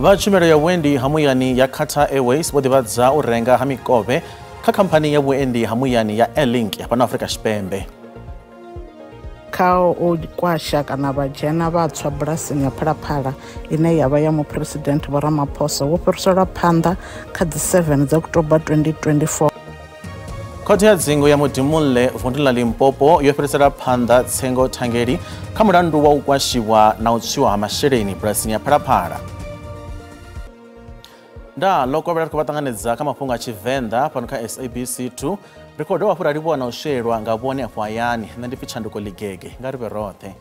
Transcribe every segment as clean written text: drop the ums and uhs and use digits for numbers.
Vha tshumelo ya vhuendi ha muyani ya Qatar Airways vho ḓivhadza u renga ha mikovhe kha khamphani ya vhuendi ha muyani ya Airlink ya fhano Afrika Tshipembe. Kha u kwasha kana vha dzhena vha tswa bulasini ya Phalaphala ine ya vha ya muphuresidennde Vho Ramaphosa wo fhiriselwa phanḓa kha dzi 7 dza October 2024. Khothe ya dzingu ya Modimolle vunḓu ḽa Limpopo yo fhirisela phanḓa tsengo thangeli kha mulandu wa u kwashiwa na u tswiwa ha masheleni bulasini ya Phalaphala. Nda ḽo kovhela ri khou vha ṱanganedza kha mafhungo a Tshivenḓa fhano kha SABC 2. Ri khou dovha hafhu ra livhuwa na u shelwa nga vhone afho hayani. Nṋe ndi pfi Tshanduko Ligege, nga ri vhe roṱhe.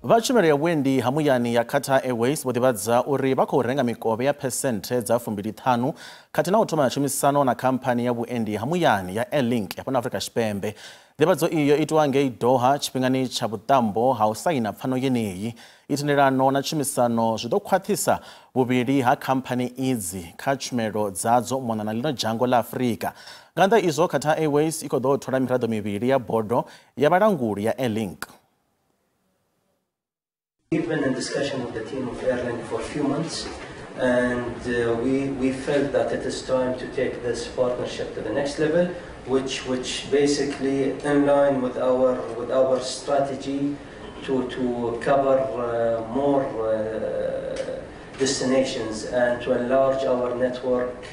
Vha tshumelo ya vhuendi ha muyani ya Qatar Airways vho ḓivhadza uri vha khou renga mikovhe ya phesenthe dza 25 khathihi na u thoma tshumisano na khamphani ya vhuendi ha muyani ya Airlink ya fhano Afrika Tshipembe. Nḓivhadzo iyo itwa ngei Doha tshifhingani tsha vhuṱambo ha u saina pfano yeneyi. Itendelano na tshumisano zwi ḓo khwaṱhisa vhuvhili ha khamphani idzi kha tshumelo dzadzo u mona na ḽino dzhango ḽa Afrika. Nga nnḓa izwo, Qatar Airways i khou ḓo thola miraḓo mivhili ya bodo ya vhalanguli ya Airlink. We've been in discussion with the team of Airlink for a few months, and we felt that it is time to take this partnership to the next level, which basically in line with our strategy to cover more destinations and to enlarge our network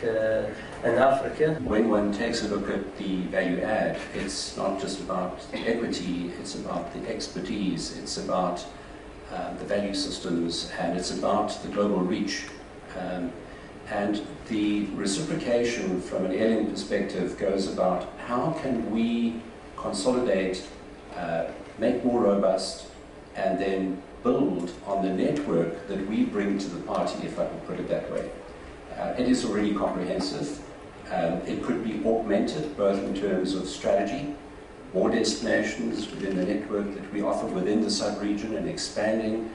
in Africa. When one takes a look at the value add, it's not just about the equity, it's about the expertise, it's about the value systems, and it's about the global reach. And the reciprocation from an Airlink perspective goes about how can we consolidate, make more robust, and then build on the network that we bring to the party, if I can put it that way. It is already comprehensive. It could be augmented both in terms of strategy, more destinations within the network that we offer within the sub-region and expanding.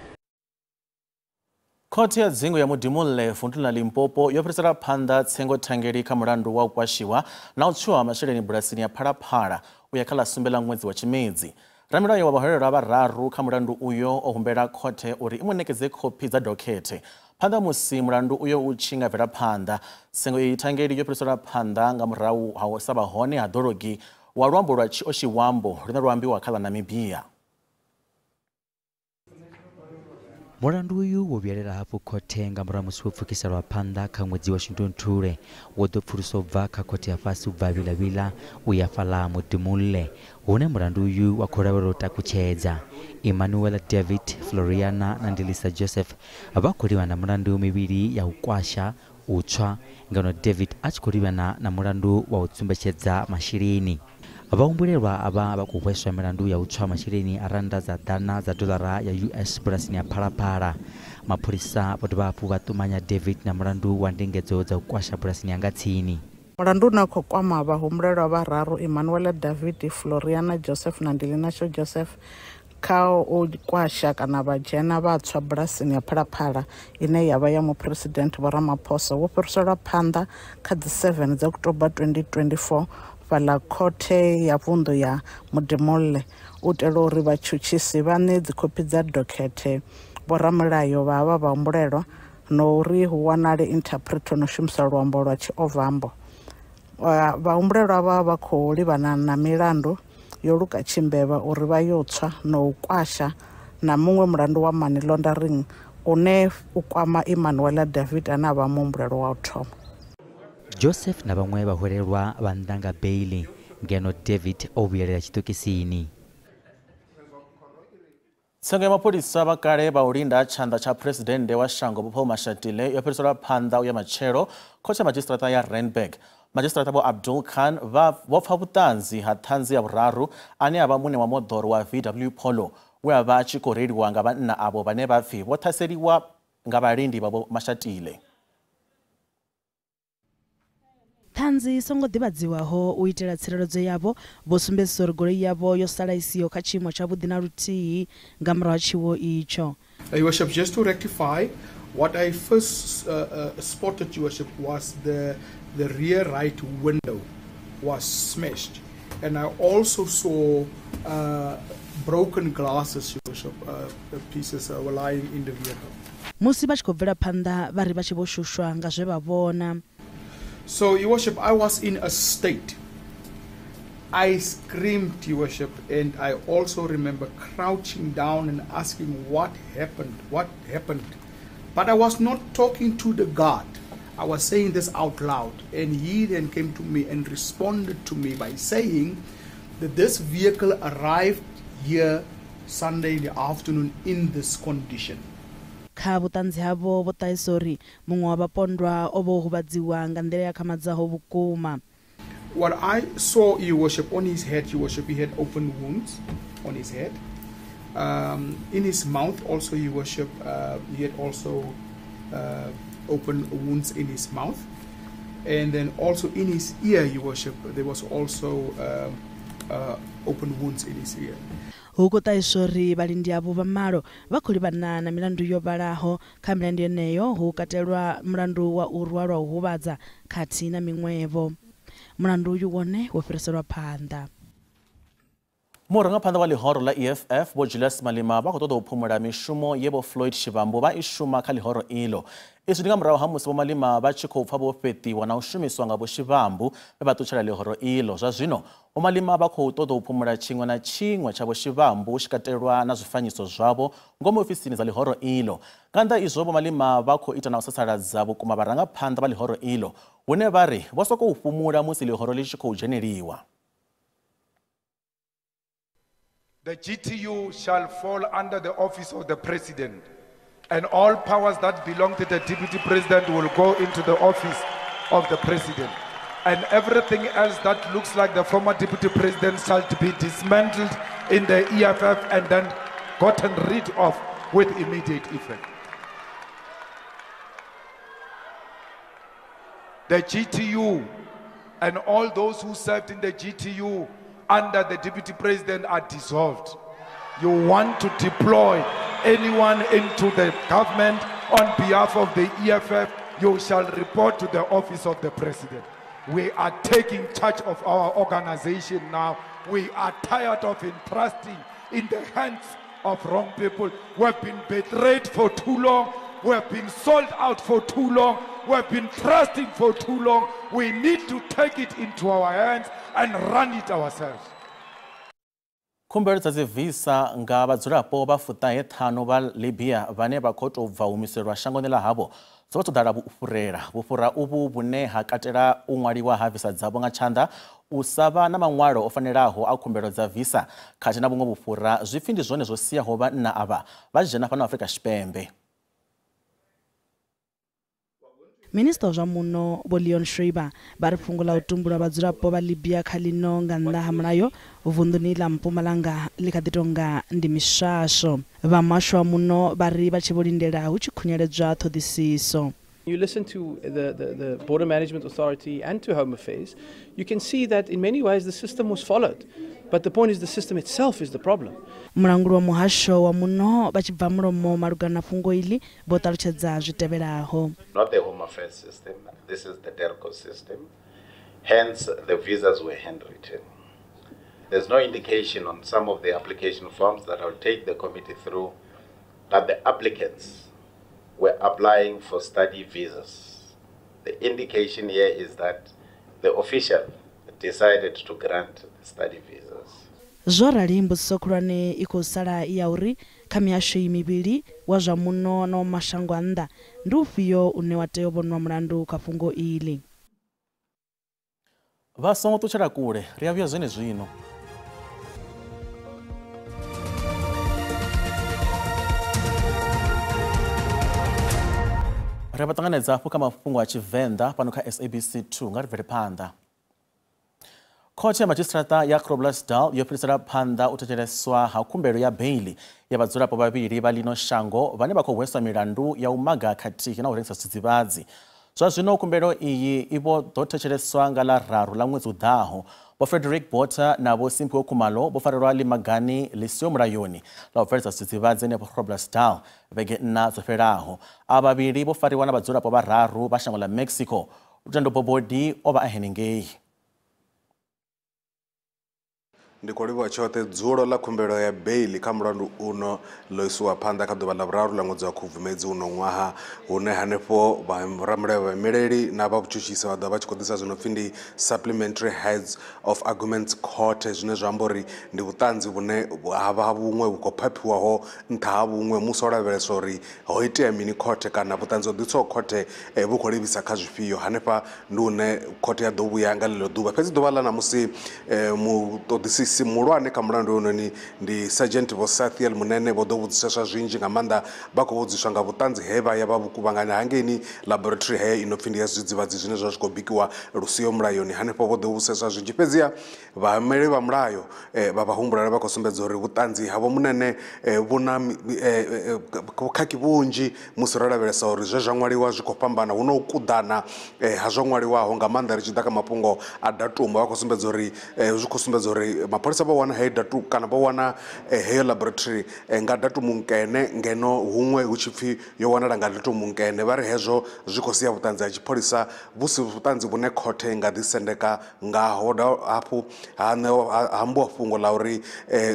Khothe ya dzingu ya Modimolle vunḓu ḽa Limpopo yo fhirisela phanḓa tsengo thangeli kha mulandu wa u kwashiwa na u tswiwa ha masheleni bulasini ya Phalaphala u ya kha ḽa 7 ḽa ṅwedzi wa Tshimedzi. Ramilayo wa vhaholelwa vhararu kha mulandu uyo o humbela khothe uri i mu ṋekedze khophi dza dokhethe phanḓa musi mulandu uyo u tshi nga bvela phanḓa. Tsengo iyi thangeli yo fhiriselwa phanḓa nga murahu ha u sa vha hone ha ḓologi wa luambo lwa Tshioshiwambo lune lwa ambiwa kha ḽa Namibia. Mulandu uyu wo vhuyelela hafhu khothe nga murahu musi wo pfukiselwa phanḓa kha ṅwedzi wa Shundunthule, wo ḓo pfuluswa bva kha khothe ya fhasi u bva Vilavila u ya fhaḽa Modimolle, hune mulandu uyu wa khou lavhelelwa u takutshedza. Emmanuel David, Floriana na Ndilisa Joseph vha khou livhana mulandu mivhili ya u kwasha, u tswa, ngeno David a tshi khou livhana na mulandu wa u tsumbetshedza masheleni. Vhahumbulelwa avha vha khou hweswa milandu ya u tswa masheleni a rannda dza ḓana dza dolara ya US bulasini ya Phalaphala. Mapholisa vho dovha hafhu vha ṱumanya David na mulandu wa ndingedzo dza u kwasha bulasini ya nga tsini. Mulandu une khou kwama vhahumbulelwa vhararu Emmanuel David, Floriana Joseph na Ndilinasho Joseph kha u kwasha kana vha dzhena vha tswa bulasini ya Phalaphala ine ya vha ya muphuresidennde Vho Ramaphosa wo fhiriselwa phanḓa kha dzi 7 dza October 2024 fhaḽa khothe ya vunḓu ya Modimolle u itela uri vhatshutshisi vha ṋee dzikhophi dza dokhethe vhoramilayo vha havha vhahumbulelwa na uri hu wanale interpreter no shumisa luambo lwa Tshiovambo. Vhahumbulelwa vha khou livhana na milandu yo luka tshimbevha uri vha yo tswa na u kwasha na muṅwe mulandu wa money laundering une u kwama Emmanuel David ane a vha muhumbulelwa wa u thoma. Joseph na vhaṅwe vhaholelwa vha nnḓa nga beili, ngeno David o vhuyelela tshiṱokisini. Tsengo ya mapholisa vha kale vha u linda tshanḓa tsha phuresidennde wa shango Vho Paul Mashatile yo fhiriselwa phanḓa u ya matshelo khothe ya madzhisiṱiraṱa ya Randburg. Madzhisiṱiraṱa Vho Abdul Khan vho pfa vhuṱanzi ha ṱhanzi ya vhuraru ane a vha muṋe wa moḓoro wa VW Polo we a vha a tshi khou reiliwa nga vhanna avho vhane vha pfi vho ṱhaseliwa nga vhalindi vha Vho Mashatile. Ṱhanzi songo ḓivhadziwaho u itela tsireledzo yavho vho sumbedzisa uri goloi yavho yo sala isiho kha tshiimo tshavhuḓi na luthihi nga murahu ha tshiwo itsho. Your Worship, just to rectify, what I first spotted, Your Worship, was the rear right window was smashed, and I also saw broken glasses, Your Worship, pieces were lying in the vehicle. Musi vha tshi khou bvela phanḓa vha ri vha tshi vho shushwa nga zwe vha vhona. So, Your Worship, I was in a state. I screamed, Your Worship, and I also remember crouching down and asking what happened, what happened. But I was not talking to the guard. I was saying this out loud. And he then came to me and responded to me by saying that this vehicle arrived here Sunday in the afternoon in this condition. Kha vhuṱanzi havho vho ṱahisa uri muṅwe wa vhapondwa o vho huvhadziwa nga nḓila ya khamadzaho vhukuma. What I saw, Your Worship, on his head, Your Worship, he had open wounds on his head. In his mouth also, Your Worship, he had also open wounds in his mouth. And then also in his ear, Your Worship, there was also open wounds in his ear. Hu khou ṱahiswa uri vhalindi avho vha malo vha khou livhana na milandu yo vhalaho. Kha milandu yeneyo hu katelwa mulandu wa u rwa lwa u huvhadza khathihi na miṅwevho. Mulandu uyu wone wo fhiriselwa phanḓa. Murangaphanḓa wa ḽihoro ḽa EFF Vho Julius Malema vha khou ṱoḓa u phumula mishumo ye Vho Floyd Shivambu vha i shuma kha ḽihoro ilo. Izwi ndi nga murahu ha musi Vho Malema vha tshi khou pfa vho fheṱiwa na u shumiswa nga Vho Shivambu vhe vha ṱutshela ḽihoro ilo. Zwa zwino Vho Malema vha khou ṱoḓa u phumula tshiṅwe na tshiṅwe tsha Vho Shivambu hu tshi katelwa na zwifanyiso zwavho ngomu ofisini dza ḽihoro ilo. Nga nnḓa izwo Vho Malema vha khou ita na u sasaladza vhukuma vharangaphanḓa vha ḽihoro ilo, hune vha ri vho sokou fhumula musi ḽihoro ḽi tshi khou dzheneliwa. The GTU shall fall under the office of the president, and all powers that belong to the deputy president will go into the office of the president. And everything else that looks like the former deputy president shall be dismantled in the EFF and then gotten rid of with immediate effect. The GTU and all those who served in the GTU under the deputy president are dissolved. You want to deploy anyone into the government on behalf of the EFF, you shall report to the office of the president. We are taking charge of our organization now. We are tired of entrusting in the hands of wrong people. We have been betrayed for too long. We have been sold out for too long. We have been trusting for too long. We need to take it into our hands and run it ourselves. Khumbelo dza dzi visa nga vhadzulapo vha 75 vha Libya vhane vha khou tou bva humiselwa shangoni ḽa havho dzo vha dzo ḓala vhufhurela. Vhufhura uvhu vhune ha katela u ṅwaliwa ha visa dzavho nga tshanḓa, u sa vha na maṅwalo o fanelaho a khumbelo dza visa khathihi na vhuṅwe vhufhura zwi pfi ndi zwone zwo siaho vhanna avha vha tshi dzhena fhano Afrika Tshipembe. Minista wa zwa muno Vho Leon Schreiber vha ri fhungo ḽa u tumbula vhadzulapo vha Libya kha ḽino nga nnḓa ha mulayo vunḓuni ḽa Mpumalanga ḽi kha ḓi tonga ndi miswaswo. Vha muhasho wa muno vha ri vha tshi vho lindela hu tshi khunyeledzwa ṱhoḓisiso. You listen to the Border Management Authority and to Home Affairs, you can see that in many ways the system was followed. But the point is the system itself is the problem. Mulanguli wa muhasho wa muno vha tshi bva mulomo malugana na fhungo iḽi vho ṱalutshedza zwi tevhelaho. Not the Home Affairs system, this is the DERCO system. Hence, the visas were handwritten. There's no indication on some of the application forms that I'll take the committee through that the applicants were applying for study visas. The indication here is that the official decided to grant the study visas. Zwo rali mbudziso khulwane i khou sala i ya uri kha mihasho iyi mivhili wa zwa muno na wa mashango a nnḓa ndi ufhio une wa tea u vhonwa mulandu kha fhungo iḽi. Vha songo ṱutshela kule, ri a vhuya zwenezwino. Ri vha ṱanganedza hafhu kha mafhungo a Tshivenḓa fhano kha SABC 2 nga ri bvele phanḓa. Khothe ya madzhisiṱiraṱa ya Groblersdal yo fhirisela phanḓa u thetsheleswa ha khumbelo ya beili ya vhadzulapo vhavhili vha ḽino shango vhane vha khou hweswa milandu ya u maga khathihi na u rengisa zwidzidzivhadzi. Zwa zwino khumbelo iyi i vho ḓo thetsheleswa nga ḽa 3 ḽa ṅwedzi u ḓaho. Vho Frederick Botha na Vho Simphiwe Khumalo vho farelwa limagani ḽi siho mulayoni ḽa u bveledza zwidzidzivhadzi henefho Groblersdal vhege 4 dzo fhelaho. Avha vhavhili vho fariwa na vhadzulapo vhararu vha shango ḽa Mexico. Lutendo Bobodi o vha a henengei. Ndi khou livhuwa tshoṱhe. Dzulo ḽa khumbelo ya beili kha mulandu uno ḽo isiwa phanḓa kha ḓuvha ḽa vhuraru ḽa ṅwedzi wa Khubvumedzi uno ṅwaha, hune hanefho vharamulayo vhaimeleli na vha vhutshutshisi vha ḓo vha tshi khou ḓisa zwi no pfhi ndi supplementary heads of arguments court, zwine zwa amba uri ndi vhuṱanzi vhune ha vha vhuṅwe vhu khou phaphiwaho nṱha ha vhuṅwe musi ho lavheleswa uri ho itea mini khothe kana vhuṱanzi ho ḓiswaho khothe vhu khou livhisa kha zwifhio. Hanefha ndi hune khothe ya ḓo vhuya nga ḽeḽo ḓuvha. Fhedzi ḓuvha ḽa ṋamusi muṱoḓisisi muhulwane kha mulandu hoyunoni ndi Sergeant Vho Sathiel Munene, vho ḓo vhudziseswa zwinzhi nga maanḓa. Vha khou vhudziswa nga vhuṱanzi he vha ya vha vhu kuvhanganya hangeini laboratory he ino pfhi ndi ya zwidzidzivhadzi zwine zwa zwi khou bikiwa lusiho mulayoni. Hanefho vho ḓo vhudziseswa zwinzhi, fhedziha vhaimeli vha mulayo vha vhahumbulelwa vha khou sumbedza uri vhuṱanzi havho Munene vhu na vhukhakhi vhunzhi musi ro lavhelesa uri zwe zwa ṅwaliwa zwi khou fhambana, hu na u kuḓana ha zwo ṅwaliwaho nga maanḓa ri tshi ḓa kha mafhungo a datumu. Vha khou sumbedza uri zwi khou sumbedza uri mapholisa vho wana heyo datumu kana vho wana heyo laboratory nga datumu nkene, ngeno huṅwe hu tshi pfhi yo wanala nga datumu nkene. Vha ri hezwo zwi khou sia vhuṱanzi ha tshipholisa vhu si vhuṱanzi vhune khothe i nga ḓisendeka ngaho. Hafhu ha ambiwa fhungo ḽa uri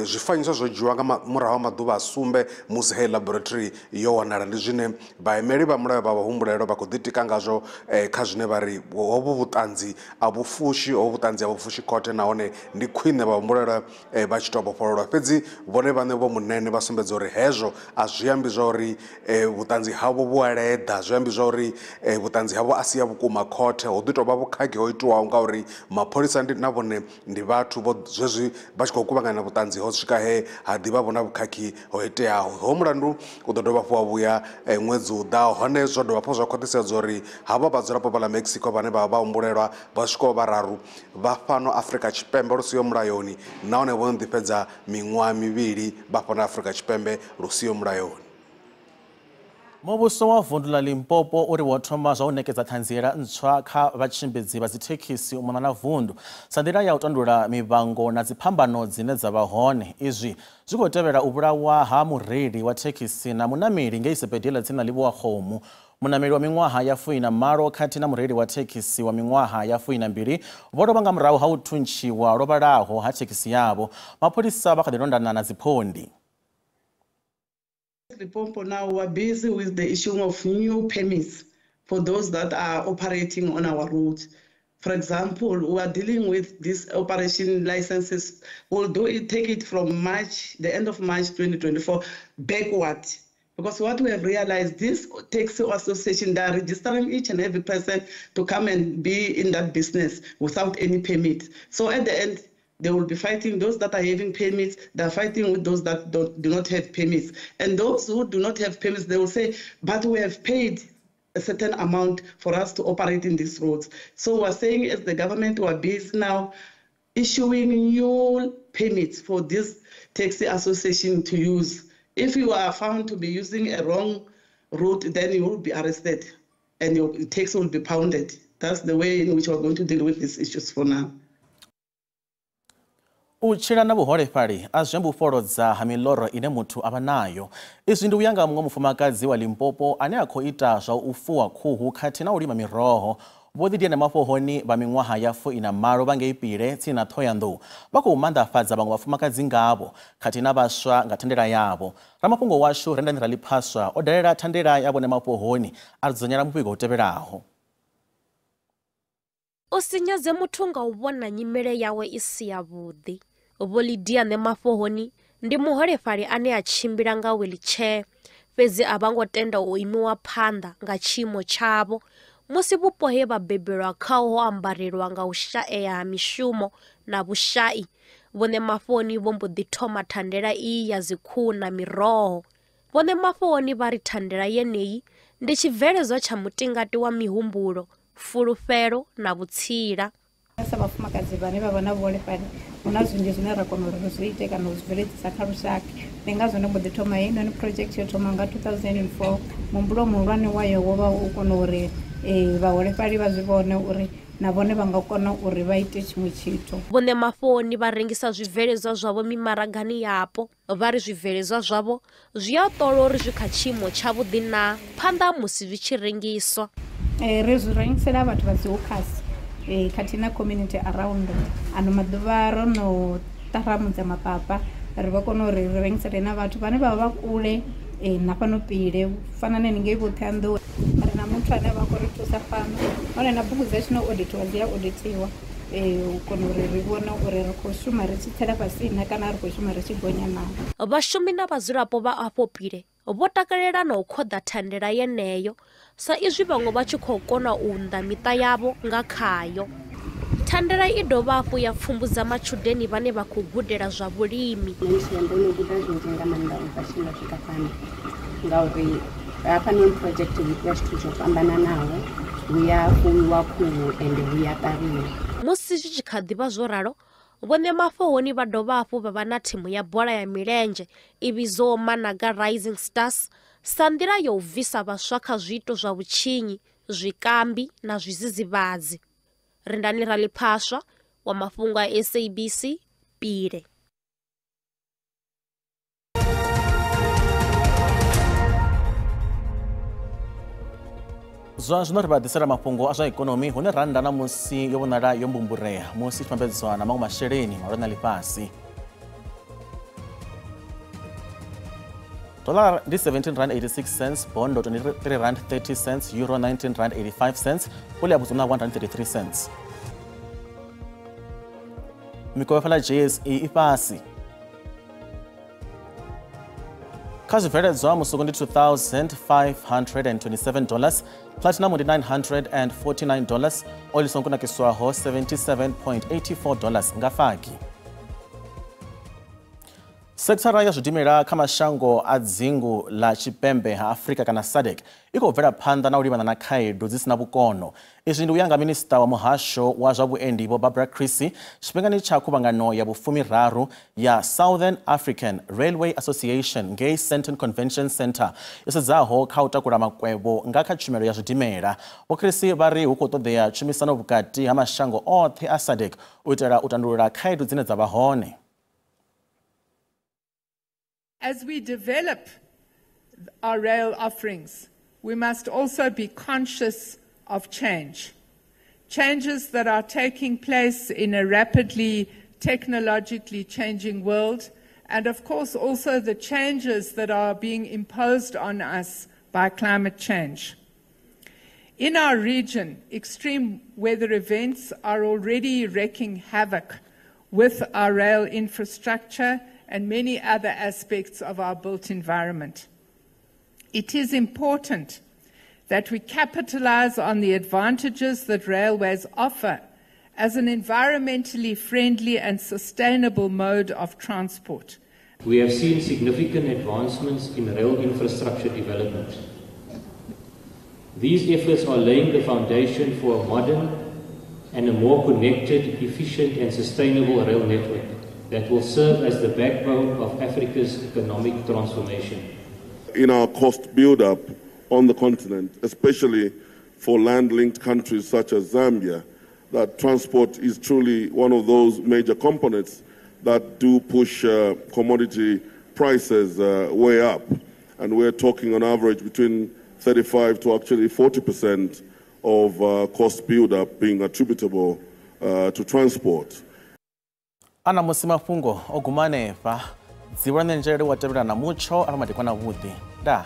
zwifanyiso zwo dzhiwa nga murahu ha maḓuvha a 7 musi heyo laboratory yo wanala. Ndi zwine vhaimeli vha mulayo vha vhahumbulelwa vha khou ḓitika ngazwo kha zwine vha ri hovhu vhuṱanzi a vhu fushi, hovhu vhuṱanzi a vhu fushi khothe, nahone ndi khwine vhahumbulelwa vha tshi tou vhofhololwa. Fhedzi vhone vhaṋe vho Munene vha sumbedza uri hezwo a zwi ambi zwa uri vhuṱanzi havho vhu a leḓa, zwi ambi zwa uri vhuṱanzi havho a si ya vhukuma khothe, ho ḓi tou vha vhukhakhi ho itiwaho ngauri mapholisa ndi na vhone ndi vhathu vho zwezwi vha tshi khou kuvhanganya vhuṱanzi ho swika he ha ḓivha vho na vhukhakhi ho iteaho. Ho mulandu u ḓo dovha hafhu wa vhuya ṅwedzi u ḓaho, hone zwo dovha hafhu zwa khwaṱhisedza uri havha vhadzulapo vha ḽa Mexico vhane vha vha humbulelwa vha swikaho vhararu vha fhano Afrika Tshipembe lu siho mulayoni, nahone vho no ḓi fhedza miṅwaha 2 vha fhano Afrika Tshipembe lu siho mulayoni. Muvhuso wa vundu ḽa Limpopo uri wo thoma zwa u ṋekedza ṱhanziela ntswa kha vhatshimbidzi vha dzithekhisi u mona na vundu sa nḓila ya u tandulula mivhango na dziphambano dzine dza vha hone. Izwi zwi khou tevhela u vhulawa ha mureili wa thekhisi na munameli ngei sibadela tsini na Livhuwakgomo. Munameli wa miṅwaha ya 18 khathihi na mureili wa thekhisi wa miṅwaha ya 22 vho lovha nga murahu ha u thuntshiwa lwo vhalaho ha thekhisi yavho. Mapholisa vha kha ḓi londana na dziphondi. Limpopo now we are busy with the issuing of new permits for those that are operating on our roads. For example, we are dealing with these operation licenses. We'll do it, take it from March, the end of March 2024, backward. Because what we have realized, this taxi association, they are registering each and every person to come and be in that business without any permit. So at the end, they will be fighting those that are having permits, they are fighting with those that do not have permits. And those who do not have permits, they will say, but we have paid a certain amount for us to operate in these roads. So we're saying as the government, we are busy now issuing new permits for this taxi association to use. If you are found to be using a wrong route, then you will be arrested and your taxi will be pounded. That's the way in which we're going to deal with these issues for now. U tshila na vhuholefhali a zwi ambi u fholodza ha miloro ine muthu a vha nayo. Izwi ndi u ya nga muṅwe mufumakadzi wa Limpopo ane a khou ita zwa u fuwa khuhu khathihi na u lima miroho. Vho Ḓidiana Mafhohoni vha miṅwaha ya 48 vha ngei Pile tsini na Ṱhohoyanḓou vha khou manḓafhadza vhaṅwe vhafumakadzi ngavho khathihi na vhaswa nga thandela yavho. Ramafhungo washu Rendani Raliphaswa o dalela thandela ya vhone Mafhohoni a dzudzanyela muvhigo u tevhelaho. O si nyadze muthu nga u vhona nyimele yawe i si yavhuḓi. Vho Lidiane Mafhohoni ndi muholefhali ane a tshimbila nga wheelchair, fhedzi a vha ngo tenda u imiwa phanḓa nga tshiimo tshavho musi vhupo he vha bebelwa khaho ho ambarelwa nga u shaea ha mishumo na vhushai. Vhone Mafhohoni vho mbo ḓi thoma thandela iyi ya dzikhuhu na miroho. Vhone Mafhohoni vha ri thandela yeneyi ndi tshibveledzwa tsha mutingati wa mihumbulo, fulufhelo na vhutsila. Sa vhafumakadzi vhane vha vha na vhuholefhali hu na zwinzhi zwine ra kona uri ri zwi ite kana u zwi bveledzisa kha lushaka. Ndi ngazwo ndo mbo ḓi thoma heinoni project yo thoma nga 2004. Muhumbulo muhulwane wayo wo vha u kona uri vhaholefhali vha zwi vhone uri na vhone vha nga kona uri vha ite tshiṅwe tshithu. Vhone Mafhoni vha rengisa zwibveledzwa zwavho mimaragani yapo. Vha ri zwibveledzwa zwavho zwi a ṱolwa uri zwi kha tshiimo tshavhuḓi na phanḓa musi zwi tshi rengiswa. Ri zwi rengisela vhathu vha dzi hawkers khathihi na community around. Ano maḓuvha ro no ṱaramudza mapapa ri vha kona uri ri rengisele na vhathu vhane vha vha kule na fhano Pile fana na haningei vho Ṱhohoyanḓou. Ri na muthu ane vha khou ri thusa fhano, hone na bugu dzashu na auditiwa dzi a auditiwa u kona uri ri vhone uri ri khou shuma ri tshi tsela fhasi na kana ri khou shuma ri tshi gonya na. Vhashumi na vhadzulapo vha afho Pile vho takalela na u khoḓa thandela yeneyo sa izwi vhaṅwe vha tshi khou kona u unḓa miṱa yavho nga khayo. Thandela i dovha hafhu ya pfumbudza matshudeni vhane vha khou gudela zwa vhulimi. Ndo no guda zwinzhi nga maanḓa u bva tshine nda swika fhano, ngauri hafhanoni project hu itiwa zwithu zwo fhambananaho, hu ya fuwiwa khuhu ende hu ya ṱavhiwa. Musi zwi tshi kha ḓi vha zwo ralo, Vho Ṋemafhohoni vha dovha hafhu vha vha na thimu ya bola ya milenzhe i vhidzwaho Managa Rising Stars sa nḓila ya u bvisa vhaswa kha zwiito zwa vhutshinyi, zwikambi na zwidzidzivhadzi. Rindani Raliphaswa wa mafhungo a SABC, Pile. Zwa zwino ri vha ḓisela mafhungo a zwa ikonomi hune rannda na musi yo vhonala yo mbumburea musi i tshi vhambedzwa na maṅwe masheleni mahulwane a ḽifhasi. Dollar ndi R17.86, bondo R23.30, euro R19.85, pula ya Botswana R1.33. Mikovhe fhala JSE i fhasi. Kha zwibveledzwa musuku ndi $2,527, platinum ndi $949, oil songo kunakiswaho $77.84 nga fagi. Sekithara ya zwidimela kha mashango a dzingu ḽa Tshipembe ha Afrika kana SADC i khou bvela phanḓa na u livhana na khaedu dzi sina vhukono. Izwi ndi u ya nga minisiṱa wa muhasho wa zwa vhuendi Vho Barbara Creecy tshifhingani tsha khuvhangano ya vhufumiraru ya Southern African Railway Association ngei Sandton Convention Centre yo sedzaho kha u takula makwevho nga kha tshumelo ya zwidimela. Vho Creecy vha ri hu khou ṱoḓea tshumisano vhukati ha mashango oṱhe a SADC u itela u tandulula khaedu dzine dza vha hone. As we develop our rail offerings, we must also be conscious of change. Changes that are taking place in a rapidly technologically changing world, and of course also the changes that are being imposed on us by climate change. In our region, extreme weather events are already wreaking havoc with our rail infrastructure and many other aspects of our built environment. It is important that we capitalize on the advantages that railways offer as an environmentally friendly and sustainable mode of transport. We have seen significant advancements in rail infrastructure development. These efforts are laying the foundation for a modern and a more connected, efficient and sustainable rail network that will serve as the backbone of Africa's economic transformation. In our cost build-up on the continent, especially for land-linked countries such as Zambia, that transport is truly one of those major components that do push commodity prices way up. And we're talking on average between 35 to actually 40% of cost build-up being attributable to transport. Ana musi mafhungo o guma hanefha, dzivhula ṋenzhele wa tevhela na mutsho a vha madekwana vhuḓi. Ndaa.